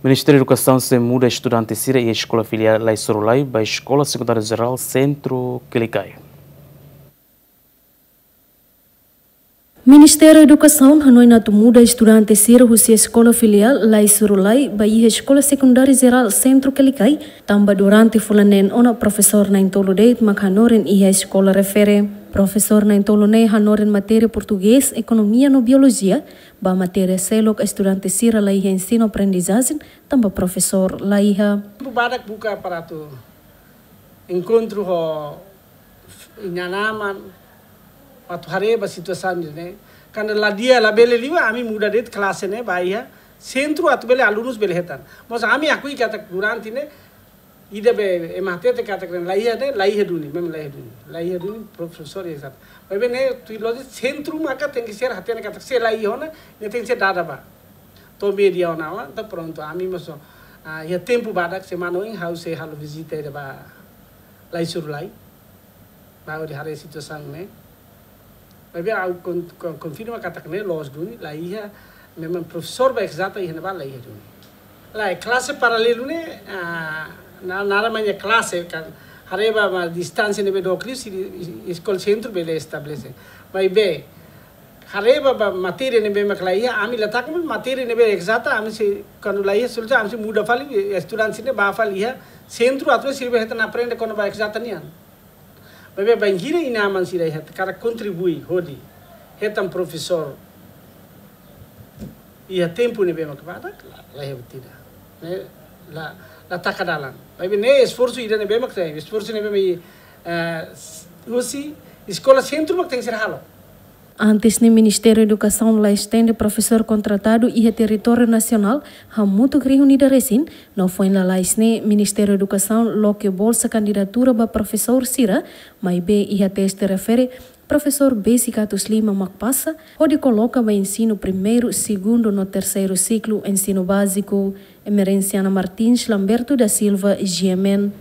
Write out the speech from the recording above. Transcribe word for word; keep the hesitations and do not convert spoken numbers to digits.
Ministériu Edukasaun sei muda estudante sira iha eskola filiál Laisurulai ba Eskola Sekundária Jerál Sentru Kelikai. Ministériu Edukasaun hanoin atu muda estudante sira husi eskola filiál Laisurulai ba iha Eskola Sekundária Jerál Sentru Kelikai, tanba durante fulan neen ona profesór na'in-tolu de'it mak hanorin iha eskola refere. Profesór na'in-tolu ne'e hanorin matéria portugés, ekonomia no biolojia, ba matéria seluk estudante sira la iha ensinu aprendizajen, tanba profesór la iha. Tempu badak buka para atu enkontru ho inan-aman, atu haree ba situasaun ne'e. Kuandu la di'ak, la bele liu, ami muda de'it klase ne'e ba iha sentru atu bele alunus bele hetan. Mas ami akui katak durante ne'e, ida be ema hatete katak la iha ne'e, la iha duni, memang la iha duni. La iha duni, profesór iha sat. Maibé ne'e tuir lojika sentru maka tenke ser hatene katak se la iha ona, ne'e tenke ser dada ba. To'o media ona, ona, entaun prontu, ami mós, ah, iha tempu badak, semana oin, ha'u sei halo vizita ida ba Laisurulai. Ba hodi haree situasaun ne'e. Maibé ha'u kon-, kon-, konfirma katak ne'e loos duni, la iha, memang profesór ba ezata iha ne'ebá la iha duni. Lae, klase paralelu ne'e, ah, na-, nada mais klase, kan, haree ba, ba distánsia ne'ebé dook liu, sei, eskola sentru bele estabelese. Maibé, haree ba, ba matéria ne'ebé mak la iha, ami la taka matéria ne'ebé ezata, ami sei, kuandu la iha solusaun, ami sei muda fali, estudante sira ne'e ba fali iha sentru, atu sira bele hetan aprende kona-ba ezata nian. Maibé bainhira inan-aman sira iha, hakarak kontribui, hodi hetan profesór iha tempu ne'ebé mak badak, la, la iha buat ida. Ne'e, la, la taka dalan. Maibé ne'e esforsu ida ne'ebé mak sai, esforsu ne'ebé mak, eh, s-, husi eskola sentru mak tenke ser halo. Antes ne'e Ministériu Edukasaun la estende profesór kontratadu iha territóriu nasionál, hamutuk rihun ida resin, no foin lalais ne'e Ministériu Edukasaun loke bolsa kandidatura ba profesór sira, maibé iha teste refere, profesór besik atus lima mak pasa, hodi koloka ba ensinu primeiru, segundu no terseiru siklu ensinu báziku. Emerenciana Martins, Lamberto da Silva, G M N.